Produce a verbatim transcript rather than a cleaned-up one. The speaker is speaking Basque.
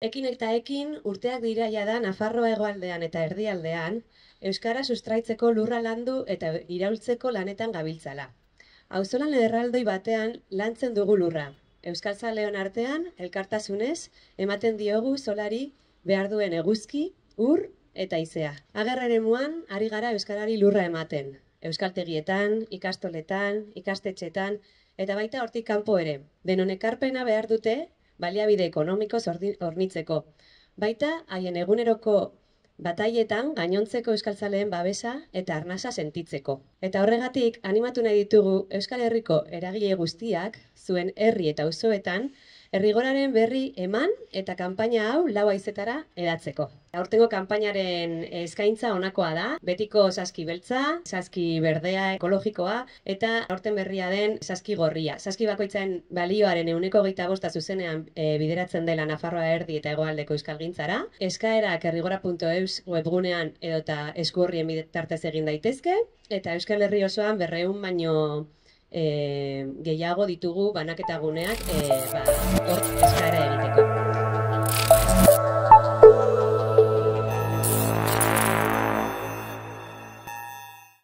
Ekin eta ekin urteak dira jada Nafarroa hegoaldean eta erdialdean, euskara sustraitzeko lurra landu eta iraultzeko lanetan gabiltzala. Auzolan erraldoi batean lantzen dugu lurra. Euskaltzaleon artean, elkartasunez, ematen diogu solari behar duen eguzki, ur eta izea. Ager eremuan ari gara euskarari lurra ematen. Euskaltegietan, ikastoletan, ikastetxetan eta baita hortik kanpo ere. Denon ekarpena behar dute baliabide ekonomiko hornitzeko. Baita, haien eguneroko batailetan gainontzeko euskaltzaleen babesa eta arnasa sentitzeko. Eta horregatik, animatu nahi ditugu Euskal Herriko eragile guztiak, zuen herri eta auzoetan, herrigoraren berri eman eta kanpaina hau lau haizetara edatzeko. Aurtengo kanpainaren eskaintza honakoa da, betiko saski beltza, saski berdea ekologikoa eta aurten berria den saski gorria. Saski bakoitzaren balioaren ehuneko hogeita bosta zuzenean e, bideratzen dela Nafarroa erdi eta hegoaldeko euskalgintzara. Eskaerak herrigora puntu eus webgunean edota eskuorrien bitartez egin daitezke, eta Euskal Herri osoan berrehun baino E, gehiago ditugu banaketa guneak e, ba, hor eskaera egiteko.